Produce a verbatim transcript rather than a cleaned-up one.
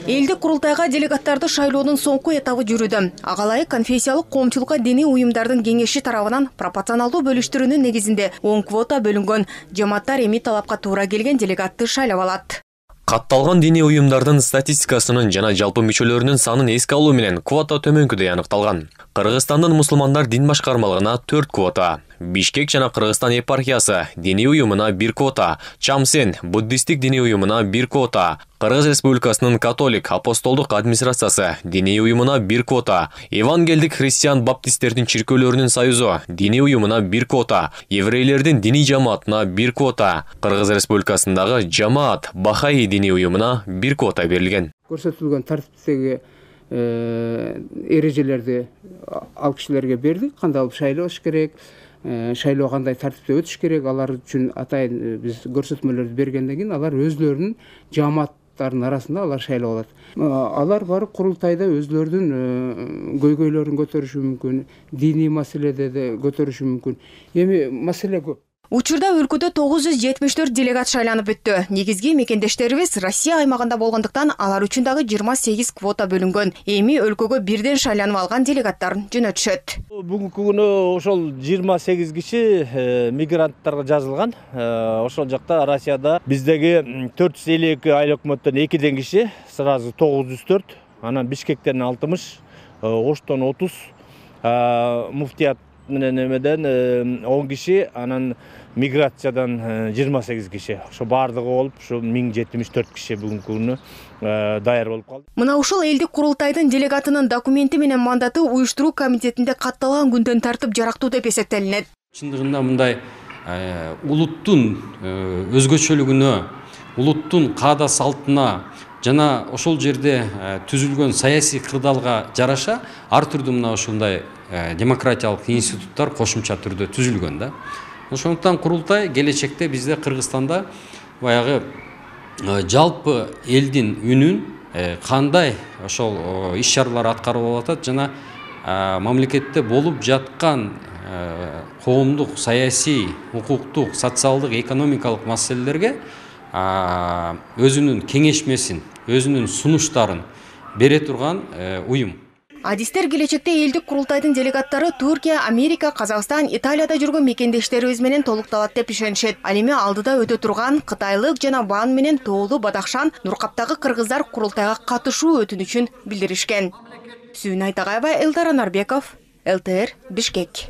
Элдик курултайга делегаттарды шайлоонун соңку этабы жүрүүдө. Ага ылайык конфессиялык коомчулукка диний уюмдардын кеңеши тарабынан пропорционалдуу бөлүштүрүүнүн негизинде он квота бөлүнгөн. Жамааттар эми талапка туура келген делегатты шайлап алат. Катталган диний уюмдардын статистикасынын жана жалпы мүчөлөрүнүн санын эске алуу менен квота төмөнкүдөй аныкталган. Кыргызстандын мусулмандар дин башкармалыгына төрт квота, Бишкек жана Кыргызстан епархиясы диний уюмуна бир квота, Чамсен буддисттик диний уюмуна бир квота, Кыргыз Республикасынын католик апостолдук администрациясы диний уюмуна бир квота, Евангелдик христиан баптисттердин чиркөөлөрүнүн союзу диний уюмуна бир квота, еврейлердин диний жамаатына бир квота, Кыргыз Республикасындагы жамаат Бахаи диний уюмуна бир квота берилген. Көрсөтүлгөн тартиптеги эрежелерди ал кишилерге бердик, кандай алып шайлаш керек, шайлоо кандай тартипте өтүш керек, алар үчүн атайын биз көрсөтмөлөрдү бергенден кийин алар өзлөрүнүн жамааттарынын арасында алар шайлап алат. Алар барып курултайда өзлөрүнүн көйгөйлөрүн көтөрүшү мүмкүн, диний маселеде де көтөрүшү мүмкүн. Эми маселе көп. Учурда өлкөдө тогуз жүз жетимиш төрт делегат шайланып өттү. Негизги мекендештерибиз Россия аймагында болгондуктан алар үчүн дагы жыйырма сегиз квота бөлүнгөн. Эми өлкөгө бирден шайланып алган делегаттар жөнөтүшөт. Бүгүнкү күнү ошол жыйырма сегиз киши мигранттарга жазылган. Ошол жакта Россияда биздеги төрт жүз элүү эки айыл өкмөттөн экиден киши, сразу тогуз жүз төрт, анан Бишкектен алтымыш, Оштон отуз, муфтият менен эмеден он киши, анан миграциядан жыйырма сегиз киши. Ошо бардыгы болуп, ушу миң жетимиш төрт киши бүгүнкү күнү даяр болуп калды. Мына ушул элдик курултайдын делегатынын документи менен мандаты уюштуруу комитетинде катталган күндөн тартып жарактуу деп эсептелинет. Чындыгында мындай улуттун өзгөчөлүгүнө, улуттун каада салтына жана ошол жерде түзүлгөн саясий кырдаалга жараша ар түрдүү мына ушундай демократиялык институттар кошумча түрдө түзүлгөн да. Ошондуктан курултай келечекте бизде Кыргызстанда баягы жалпы элдин үнүн кандай ошол иш-чаралар аткарып атат жана мамлекетте болуп жаткан коомдук, саясий, укуктук, социалдык, экономикалык маселелерге өзүнүн кеңешмесин, өзүнүн сунуштарын бере турган уюм. Адистер келечекте элдик курултайдын делегаттары Түркия, Америка, Казакстан, Италияда жүргөн мекендештерибиз менен толукталат деп ишенишет. Ал эми алдыда өтө турган Кытайлык жана Ван менен Тоолу Бадахшан Нуркаптагы кыргыздар курултайга катышуу өтүнүчүн билдиришкен. Сүйүн Айтагаева, Элдар Анарбеков, эл тэ эр, Бишкек.